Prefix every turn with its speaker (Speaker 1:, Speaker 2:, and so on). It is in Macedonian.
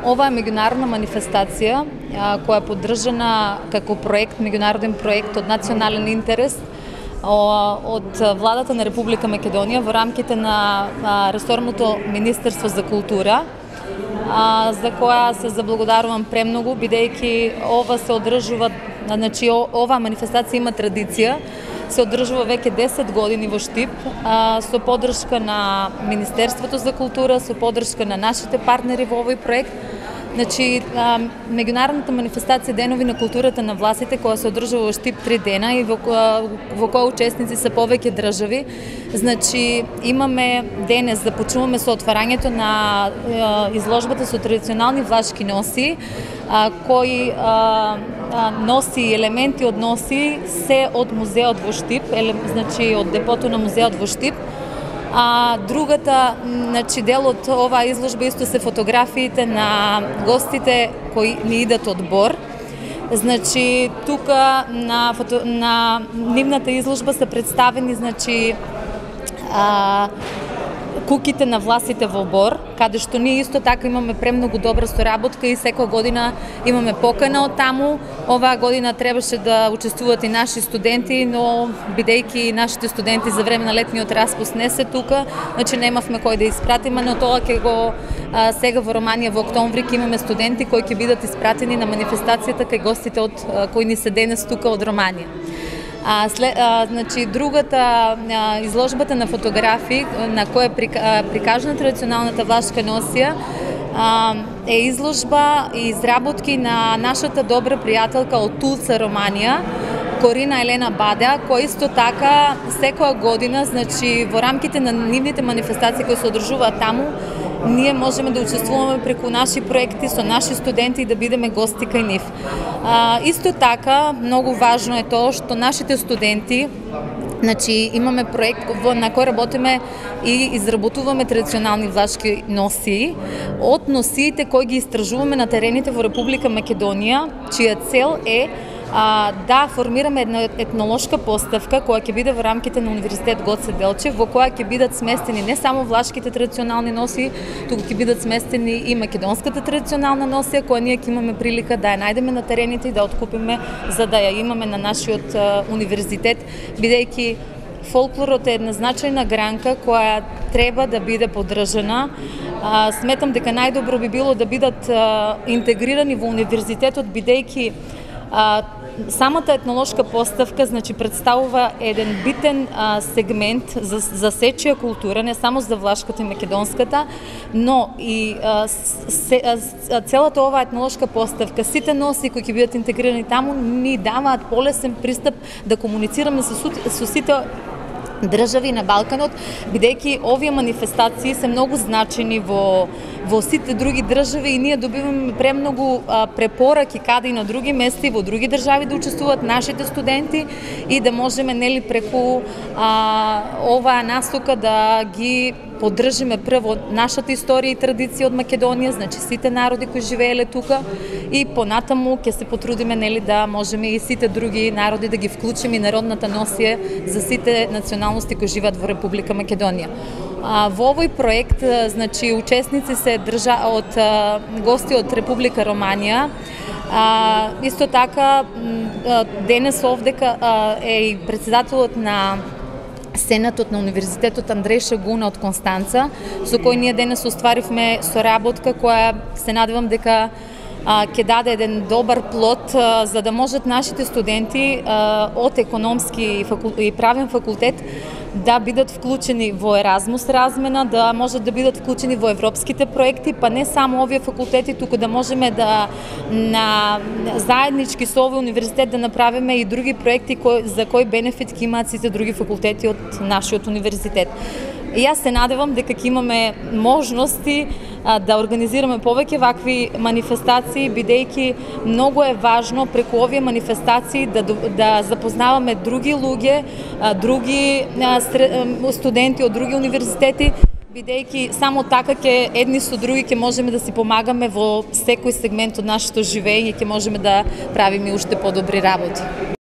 Speaker 1: Ова е меѓународна манифестација која е поддржана како проект, меѓународен проект од национален интерес од владата на Република Македонија во рамките на ресорното Министерство за култура, за која се заблагодарувам премногу, бидејќи ова се одржува, значи оваа манифестација има традиција, се одржува веќе 10 години во Штип, со поддршка на Министерството за култура, со поддршка на нашите партнери во овој проект. Значи, меѓународната манифестација Денови на културата на властите, која се одржува во Штип 3 дена и во која учесници се повеќе држави. Значи, имаме денес, започнуваме со отварањето на изложбата со традиционални влашки носи, кои носи елементи од носи се од музеот во Штип, значи од депото на музеот во Штип. Другата, значи, дел од оваа изложба исто се фотографиите на гостите кои ни идат од Бор. Значи, тука на нивната изложба се представени, значи, куките на власите во Бор, каде што ние исто така имаме премногу добра соработка и секоја година имаме покана од таму. Оваа година требаше да учествуваат и наши студенти, но бидејќи нашите студенти за време на летниот распуст не се тука, значи немавме кој да испратиме, но тоа ќе го сега во Романија во октомври ќе имаме студенти кои ќе бидат испратени на манифестацијата кај гостите кои ни се денес тука од Романија. Значи, другата изложбата на фотографии на која е прикажана традиционалната влашка носија е изложба и изработки на нашата добра пријателка од Тулца, Романија, Корина Елена Бадеа, која исто така секоја година, значи во рамките на нивните манифестации кои се одржуваат таму, ние можеме да учествуваме преку наши проекти со наши студенти и да бидеме гости кај нив. Исто така, многу важно е тоа што нашите студенти, значи имаме проект на кој работиме и изработуваме традиционални влашки носии од носиите кои ги истражуваме на терените во Република Македонија, чија цел е да формираме една етнолошка поставка која ќе биде во рамките на Универзитет Гоце Делчев, во која ќе бидат сместени не само влашките традиционални носи, туку ќе бидат сместени и македонската традиционална носија, која ние ќе имаме прилика да ја најдеме на терените и да откупиме за да ја имаме на нашиот универзитет, бидејќи фолклорот е една значајна гранка која треба да биде поддржана. Сметам дека најдобро би било да бидат интегрирани во универзитетот, бидејќи самата етнолошка поставка, значи, представува еден битен сегмент за сечија култура, не само за влашката и македонската, но и целата оваа етнолошка поставка, сите носи кои ќе бидат интегрирани таму, ни даваат полесен пристап да комуницираме со сите држави на Балканот, бидејќи овие манифестации се многу значени во сите други држави и ние добиваме премногу препораки каде и на други места и во други држави да учествуваат нашите студенти и да можеме, нели, преку оваа насока да ги поддржиме прво нашата историја и традиција од Македонија, значи сите народи кои живееле тука, и понатаму ќе се потрудиме, нели, да можеме и сите други народи да ги вклучиме и народната носија за сите националности кои живеат во Република Македонија. Во овој проект, значи, учесници се од гости од Република Романија. Исто така, денес овдека е и председателот на Сенатот на Универзитетот Андреј Шагуна од Констанца, со кој ние денес остваривме соработка која се надевам дека ќе даде еден добар плод за да можат нашите студенти од економски и правен факултет да бидат вклучени во Еразмус размена, да можат да бидат вклучени во европските проекти, па не само овие факултети, туку да можеме да заеднички со овој универзитет да направиме и други проекти за кои бенефит ќе имаат сите други факултети од нашиот универзитет. И јас се надевам дека ќе имаме можности да организираме повеќе вакви манифестации, бидејќи многу е важно преку овие манифестации да запознаваме други луѓе, други студенти од други универзитети, бидејќи само така ќе едни со други ќе можеме да си помагаме во секој сегмент од нашето живење и ќе можеме да правиме уште подобри работи.